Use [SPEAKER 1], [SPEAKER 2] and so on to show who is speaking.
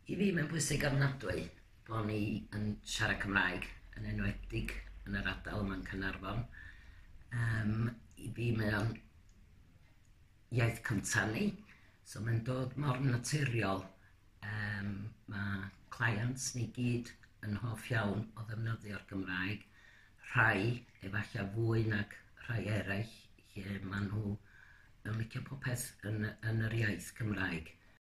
[SPEAKER 1] I fi mae'n bwysig ofnadwy bod ni yn siarad Cymraeg, yn enwedig yn yr ardal yma'n Caernarfon. I fi mae o'n iaith cyntaf ni, so mae'n dod mor naturiol. Mae clients ni gyd yn hoff iawn o ddefnyddio'r Gymraeg, rhai efallai fwy nag rhai eraill, lle maen nhw yn licio popeth yn yr iaith Cymraeg.